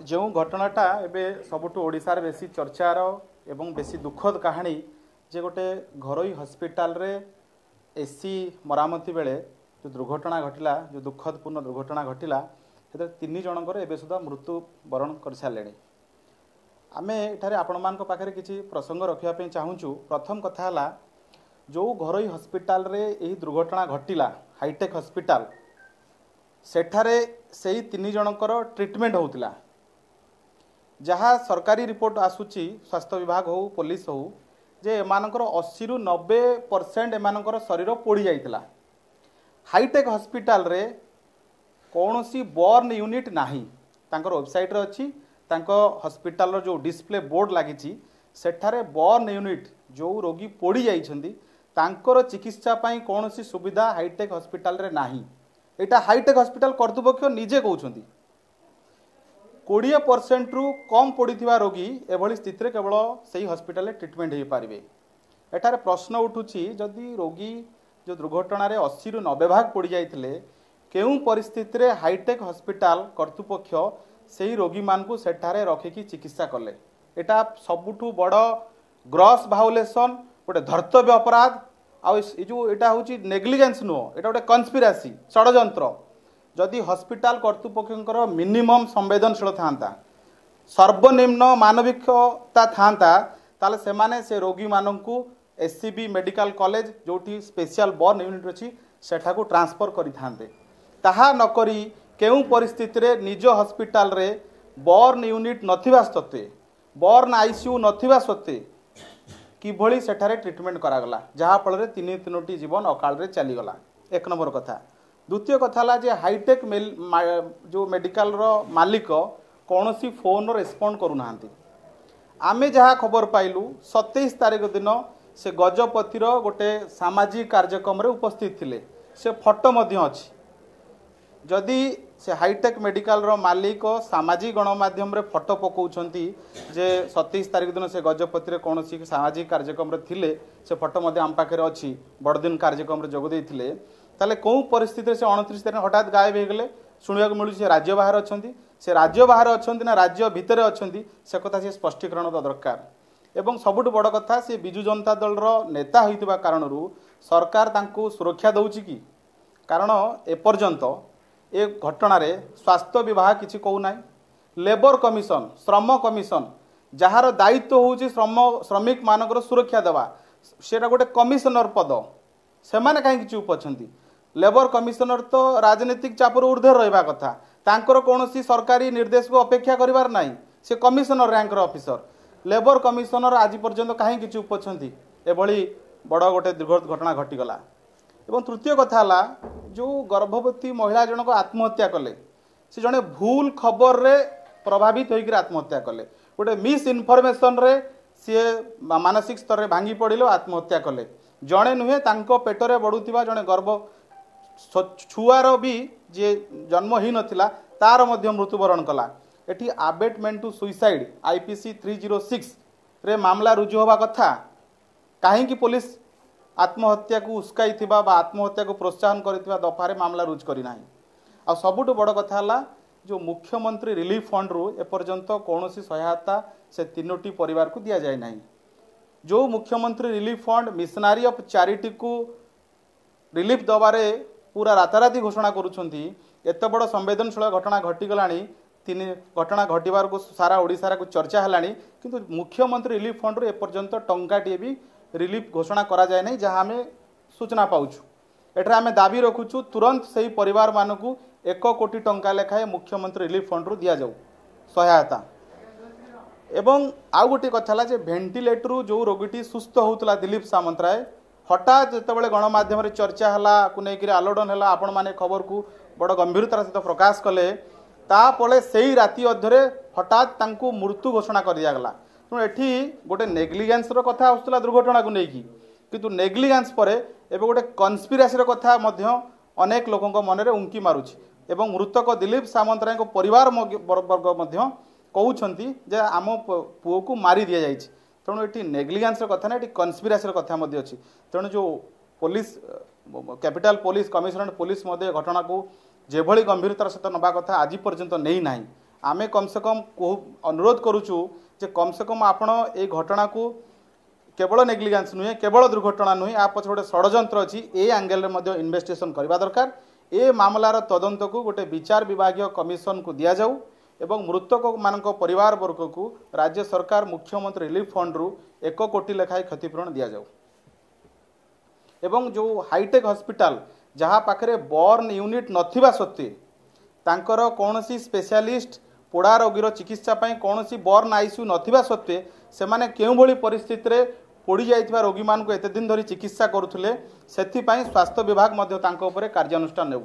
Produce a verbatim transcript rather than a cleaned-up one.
ଯେଉଁ ଘଟଣାଟା ଏବେ ସବୁଠୁ ଓଡ଼ିଶାରେ ବେଶୀ ଚର୍ଚ୍ଚାର ଏବଂ ବେଶୀ ଦୁଃଖଦ କାହାଣୀ ଯେ ଗୋଟେ ଘରୋଇ ହସ୍ପିଟାଲରେ ଏସି ମରାମତି ବେଳେ ଯେଉଁ ଦୁର୍ଘଟଣା ଘଟିଲା, ଯେଉଁ ଦୁଃଖଦପୂର୍ଣ୍ଣ ଦୁର୍ଘଟଣା ଘଟିଲା, ସେଥିରେ ତିନି ଜଣଙ୍କର ଏବେ ସୁଦ୍ଧା ମୃତ୍ୟୁବରଣ କରିସାରିଲେଣି। ଆମେ ଏଠାରେ ଆପଣମାନଙ୍କ ପାଖରେ କିଛି ପ୍ରସଙ୍ଗ ରଖିବା ପାଇଁ ଚାହୁଁଛୁ। ପ୍ରଥମ କଥା ହେଲା, ଯେଉଁ ଘରୋଇ ହସ୍ପିଟାଲରେ ଏହି ଦୁର୍ଘଟଣା ଘଟିଲା, ହାଇଟେକ୍ ହସ୍ପିଟାଲ, ସେଠାରେ ସେଇ ତିନି ଜଣଙ୍କର ଟ୍ରିଟମେଣ୍ଟ ହେଉଥିଲା। ଯାହା ସରକାରୀ ରିପୋର୍ଟ ଆସୁଛି, ସ୍ୱାସ୍ଥ୍ୟ ବିଭାଗ ହେଉ ପୋଲିସ ହେଉ, ଯେ ଏମାନଙ୍କର ଅଶୀରୁ ନବେ ପରସେଣ୍ଟ ଏମାନଙ୍କର ଶରୀର ପୋଡ଼ି ଯାଇଥିଲା। ହାଇଟେକ୍ ହସ୍ପିଟାଲରେ କୌଣସି ବର୍ନ ୟୁନିଟ୍ ନାହିଁ। ତାଙ୍କର ୱେବସାଇଟ୍ରେ ଅଛି, ତାଙ୍କ ହସ୍ପିଟାଲର ଯେଉଁ ଡିସପ୍ଲେ ବୋର୍ଡ଼ ଲାଗିଛି ସେଠାରେ ବର୍ନ ୟୁନିଟ୍, ଯେଉଁ ରୋଗୀ ପୋଡ଼ି ଯାଇଛନ୍ତି ତାଙ୍କର ଚିକିତ୍ସା ପାଇଁ କୌଣସି ସୁବିଧା ହାଇଟେକ୍ ହସ୍ପିଟାଲରେ ନାହିଁ। ଏଇଟା ହାଇଟେକ୍ ହସ୍ପିଟାଲ କର୍ତ୍ତୃପକ୍ଷ ନିଜେ କହୁଛନ୍ତି। କୋଡ଼ିଏ ପରସେଣ୍ଟରୁ କମ୍ ପୋଡ଼ିଥିବା ରୋଗୀ ଏଭଳି ସ୍ଥିତିରେ କେବଳ ସେଇ ହସ୍ପିଟାଲରେ ଟ୍ରିଟମେଣ୍ଟ ହେଇପାରିବେ। ଏଠାରେ ପ୍ରଶ୍ନ ଉଠୁଛି, ଯଦି ରୋଗୀ ଯେଉଁ ଦୁର୍ଘଟଣାରେ ଅଶୀରୁ ନବେ ଭାଗ ପୋଡ଼ି ଯାଇଥିଲେ, କେଉଁ ପରିସ୍ଥିତିରେ ହାଇଟେକ୍ ହସ୍ପିଟାଲ କର୍ତ୍ତୃପକ୍ଷ ସେଇ ରୋଗୀମାନଙ୍କୁ ସେଠାରେ ରଖିକି ଚିକିତ୍ସା କଲେ? ଏଇଟା ସବୁଠୁ ବଡ଼ ଗ୍ରସ୍ ଭାଓଲେସନ୍, ଗୋଟେ ଧର୍ତ୍ତବ୍ୟ ଅପରାଧ। ଆଉ ଏ ଯେଉଁ ଏଇଟା ହେଉଛି ନେଗ୍ଲିଜେନ୍ସ ନୁହଁ, ଏଇଟା ଗୋଟେ କନସ୍ପିରାସି, ଷଡ଼ଯନ୍ତ୍ର। ଯଦି ହସ୍ପିଟାଲ କର୍ତ୍ତୃପକ୍ଷଙ୍କର ମିନିମମ୍ ସମ୍ବେଦନଶୀଳ ଥାନ୍ତା, ସର୍ବନିମ୍ନ ମାନବିକତା ଥାନ୍ତା, ତାହେଲେ ସେମାନେ ସେ ରୋଗୀମାନଙ୍କୁ S C B medical college, ଯେଉଁଠି ସ୍ପେଶିଆଲ ବର୍ନ ୟୁନିଟ୍ ଅଛି, ସେଠାକୁ ଟ୍ରାନ୍ସଫର କରିଥାନ୍ତେ। ତାହା ନକରି କେଉଁ ପରିସ୍ଥିତିରେ ନିଜ ହସ୍ପିଟାଲରେ ବର୍ନ ୟୁନିଟ୍ ନଥିବା ସତ୍ତ୍ୱେ, ବର୍ନ ଆଇସିୟୁ ନଥିବା ସତ୍ତ୍ୱେ କିଭଳି ସେଠାରେ ଟ୍ରିଟମେଣ୍ଟ କରାଗଲା, ଯାହାଫଳରେ ତିନି ତିନୋଟି ଜୀବନ ଅକାଳରେ ଚାଲିଗଲା? ଏକ ନମ୍ବର କଥା। ଦ୍ୱିତୀୟ କଥା ହେଲା ଯେ ହାଇଟେକ୍ ଯେଉଁ ମେଡ଼ିକାଲର ମାଲିକ କୌଣସି ଫୋନ୍ର ରେସ୍ପଣ୍ଡ କରୁନାହାନ୍ତି। ଆମେ ଯାହା ଖବର ପାଇଲୁ, ସତେଇଶ ତାରିଖ ଦିନ ସେ ଗଜପତିର ଗୋଟେ ସାମାଜିକ କାର୍ଯ୍ୟକ୍ରମରେ ଉପସ୍ଥିତ ଥିଲେ, ସେ ଫଟୋ ମଧ୍ୟ ଅଛି। ଯଦି ସେ ହାଇଟେକ୍ ମେଡ଼ିକାଲର ମାଲିକ ସାମାଜିକ ଗଣମାଧ୍ୟମରେ ଫଟୋ ପକାଉଛନ୍ତି ଯେ ସତେଇଶ ତାରିଖ ଦିନ ସେ ଗଜପତିରେ କୌଣସି ସାମାଜିକ କାର୍ଯ୍ୟକ୍ରମରେ ଥିଲେ, ସେ ଫଟୋ ମଧ୍ୟ ଆମ ପାଖରେ ଅଛି, ବଡ଼ଦିନ କାର୍ଯ୍ୟକ୍ରମରେ ଯୋଗ ଦେଇଥିଲେ, ତାହେଲେ କେଉଁ ପରିସ୍ଥିତିରେ ସେ ଅଣତିରିଶ ତାରିଖ ହଠାତ୍ ଗାୟବ ହେଇଗଲେ? ଶୁଣିବାକୁ ମିଳୁଛି ସେ ରାଜ୍ୟ ବାହାରେ ଅଛନ୍ତି। ସେ ରାଜ୍ୟ ବାହାରେ ଅଛନ୍ତି ନା ରାଜ୍ୟ ଭିତରେ ଅଛନ୍ତି, ସେ କଥା ସେ ସ୍ପଷ୍ଟୀକରଣ ଦେବା ଦରକାର। ଏବଂ ସବୁଠୁ ବଡ଼ କଥା, ସେ ବିଜୁ ଜନତା ଦଳର ନେତା ହୋଇଥିବା କାରଣରୁ ସରକାର ତାଙ୍କୁ ସୁରକ୍ଷା ଦେଉଛି କି? କାରଣ ଏପର୍ଯ୍ୟନ୍ତ ଏ ଘଟଣାରେ ସ୍ୱାସ୍ଥ୍ୟ ବିଭାଗ କିଛି କହୁନାହିଁ। ଲେବର କମିଶନ, ଶ୍ରମ କମିଶନ, ଯାହାର ଦାୟିତ୍ୱ ହେଉଛି ଶ୍ରମ ଶ୍ରମିକମାନଙ୍କର ସୁରକ୍ଷା ଦେବା, ସେଇଟା ଗୋଟେ କମିଶନର ପଦ, ସେମାନେ କାହିଁକି ଚୁପ୍ ଅଛନ୍ତି? ଲେବର କମିଶନର ତ ରାଜନୈତିକ ଚାପରୁ ଉର୍ଦ୍ଧ୍ୱରେ ରହିବା କଥା, ତାଙ୍କର କୌଣସି ସରକାରୀ ନିର୍ଦ୍ଦେଶକୁ ଅପେକ୍ଷା କରିବାର ନାହିଁ, ସେ କମିଶନର ର୍ୟାଙ୍କର ଅଫିସର। ଲେବର କମିଶନର ଆଜି ପର୍ଯ୍ୟନ୍ତ କାହିଁକି ଚୁପ୍ ଅଛନ୍ତି? ଏଭଳି ବଡ଼ ଗୋଟେ ଦୁର୍ଘଟଣା ଘଟିଗଲା। ଏବଂ ତୃତୀୟ କଥା ହେଲା, ଯେଉଁ ଗର୍ଭବତୀ ମହିଳା ଜଣକ ଆତ୍ମହତ୍ୟା କଲେ, ସେ ଜଣେ ଭୁଲ ଖବରରେ ପ୍ରଭାବିତ ହୋଇକରି ଆତ୍ମହତ୍ୟା କଲେ। ଗୋଟେ ମିସ୍ ଇନଫର୍ମେସନରେ ସିଏ ମାନସିକ ସ୍ତରରେ ଭାଙ୍ଗି ପଡ଼ିଲେ, ଆତ୍ମହତ୍ୟା କଲେ। ଜଣେ ନୁହେଁ, ତାଙ୍କ ପେଟରେ ବଢ଼ୁଥିବା ଜଣେ ଗର୍ଭ ଛୁଆର ବି, ଯିଏ ଜନ୍ମ ହେଇନଥିଲା, ତାର ମଧ୍ୟ ମୃତ୍ୟୁବରଣ କଲା। ଏଠି ଆବେଟମେଣ୍ଟ two suicide I P C three zero ସିକ୍ସରେ ମାମଲା ରୁଜୁ ହେବା କଥା। କାହିଁକି ପୋଲିସ ଆତ୍ମହତ୍ୟାକୁ ଉସ୍କାଇଥିବା ବା ଆତ୍ମହତ୍ୟାକୁ ପ୍ରୋତ୍ସାହନ କରିଥିବା ଦଫାରେ ମାମଲା ରୁଜୁ କରିନାହିଁ? ଆଉ ସବୁଠୁ ବଡ଼ କଥା ହେଲା, ଯେଉଁ ମୁଖ୍ୟମନ୍ତ୍ରୀ ରିଲିଫ ଫଣ୍ଡରୁ ଏପର୍ଯ୍ୟନ୍ତ କୌଣସି ସହାୟତା ସେ ତିନୋଟି ପରିବାରକୁ ଦିଆଯାଇ ନାହିଁ। ଯେଉଁ ମୁଖ୍ୟମନ୍ତ୍ରୀ ରିଲିଫ ଫଣ୍ଡ ମିଶନାରୀ ଅଫ୍ ଚାରିଟିକୁ ରିଲିଫ ଦେବାରେ ପୁରା ରାତାରାତି ଘୋଷଣା କରୁଛନ୍ତି, ଏତେ ବଡ଼ ସମ୍ବେଦନଶୀଳ ଘଟଣା ଘଟିଗଲାଣି, ତିନି ଘଟଣା ଘଟିବାରକୁ ସାରା ଓଡ଼ିଶାକୁ ଚର୍ଚ୍ଚା ହେଲାଣି, କିନ୍ତୁ ମୁଖ୍ୟମନ୍ତ୍ରୀ ରିଲିଫ ଫଣ୍ଡରୁ ଏପର୍ଯ୍ୟନ୍ତ ଟଙ୍କାଟିଏ ବି ରିଲିଫ ଘୋଷଣା କରାଯାଏ ନାହିଁ, ଯାହା ଆମେ ସୂଚନା ପାଉଛୁ। ଏଠାରେ ଆମେ ଦାବି ରଖୁଛୁ, ତୁରନ୍ତ ସେହି ପରିବାରମାନଙ୍କୁ ଏକ କୋଟି ଟଙ୍କା ଲେଖାଏଁ ମୁଖ୍ୟମନ୍ତ୍ରୀ ରିଲିଫ ଫଣ୍ଡରୁ ଦିଆଯାଉ ସହାୟତା। ଏବଂ ଆଉ ଗୋଟିଏ କଥା ହେଲା ଯେ ଭେଣ୍ଟିଲେଟରରୁ ଯେଉଁ ରୋଗୀଟି ସୁସ୍ଥ ହେଉଥିଲା, ଦିଲ୍ଲୀପ ସାମନ୍ତରାୟ, ହଠାତ୍ ଯେତେବେଳେ ଗଣମାଧ୍ୟମରେ ଚର୍ଚ୍ଚା ହେଲା, କୁ ନେଇକରି ଆଲୋଡ଼ନ ହେଲା, ଆପଣମାନେ ଖବରକୁ ବଡ଼ ଗମ୍ଭୀରତାର ସହିତ ପ୍ରକାଶ କଲେ, ତାପରେ ସେଇ ରାତି ଅଧରେ ହଠାତ୍ ତାଙ୍କୁ ମୃତ୍ୟୁ ଘୋଷଣା କରିଦିଆଗଲା। ତେଣୁ ଏଠି ଗୋଟେ ନେଗ୍ଲିଜେନ୍ସର କଥା ଆସୁଥିଲା ଦୁର୍ଘଟଣାକୁ ନେଇକି, କିନ୍ତୁ ନେଗ୍ଲିଜେନ୍ସ ପରେ ଏବେ ଗୋଟେ କନସ୍ପିରାସିର କଥା ମଧ୍ୟ ଅନେକ ଲୋକଙ୍କ ମନରେ ଉଙ୍କି ମାରୁଛି। ଏବଂ ମୃତକ ଦିଲ୍ଲୀପ ସାମନ୍ତରାୟଙ୍କ ପରିବାର ବର୍ଗ ମଧ୍ୟ କହୁଛନ୍ତି ଯେ ଆମ ପୁଅକୁ ମାରି ଦିଆଯାଇଛି। ତେଣୁ ଏଠି ନେଗ୍ଲିଜେନ୍ସର କଥା ନାହିଁ, ଏଠି କନସ୍ପିରାସିର କଥା ମଧ୍ୟ ଅଛି। ତେଣୁ ଯେଉଁ police, capital police, commissionerate police ମଧ୍ୟ ଘଟଣାକୁ ଯେଭଳି ଗମ୍ଭୀରତାର ସହିତ ନେବା କଥା ଆଜି ପର୍ଯ୍ୟନ୍ତ ନେଇନାହିଁ। ଆମେ କମ୍ ସେ କମ୍ ଅନୁରୋଧ କରୁଛୁ ଯେ କମ୍ ସେ କମ୍ ଆପଣ ଏଇ ଘଟଣାକୁ କେବଳ ନେଗ୍ଲିଜାନ୍ସ ନୁହେଁ, କେବଳ ଦୁର୍ଘଟଣା ନୁହେଁ, ଆ ପଛରେ ଗୋଟେ ଷଡ଼ଯନ୍ତ୍ର ଅଛି, ଏ ଆଙ୍ଗେଲରେ ମଧ୍ୟ ଇନଭେଷ୍ଟିଗେସନ୍ କରିବା ଦରକାର। ଏ ମାମଲାର ତଦନ୍ତକୁ ଗୋଟେ ବିଚାର ବିଭାଗୀୟ କମିଶନକୁ ଦିଆଯାଉ ଏବଂ ମୃତକମାନଙ୍କ ପରିବାର ବର୍ଗକୁ ରାଜ୍ୟ ସରକାର ମୁଖ୍ୟମନ୍ତ୍ରୀ ରିଲିଫ୍ ଫଣ୍ଡରୁ ଏକ କୋଟି ଲେଖାଏଁ କ୍ଷତିପୂରଣ ଦିଆଯାଉ। ଏବଂ ଯେଉଁ ହାଇଟେକ୍ ହସ୍ପିଟାଲ, ଯାହା ପାଖରେ ବର୍ନ ୟୁନିଟ୍ ନଥିବା ସତ୍ତ୍ୱେ, ତାଙ୍କର କୌଣସି ସ୍ପେଶାଲିଷ୍ଟ ପୋଡ଼ା ରୋଗୀର ଚିକିତ୍ସା ପାଇଁ କୌଣସି ବର୍ନ ଆଇସିୟୁ ନଥିବା ସତ୍ତ୍ୱେ ସେମାନେ କେଉଁଭଳି ପରିସ୍ଥିତିରେ ପୋଡ଼ି ଯାଇଥିବା ରୋଗୀମାନଙ୍କୁ ଏତେ ଦିନ ଧରି ଚିକିତ୍ସା କରୁଥିଲେ, ସେଥିପାଇଁ ସ୍ୱାସ୍ଥ୍ୟ ବିଭାଗ ମଧ୍ୟ ତାଙ୍କ ଉପରେ କାର୍ଯ୍ୟାନୁଷ୍ଠାନ ନେଉ।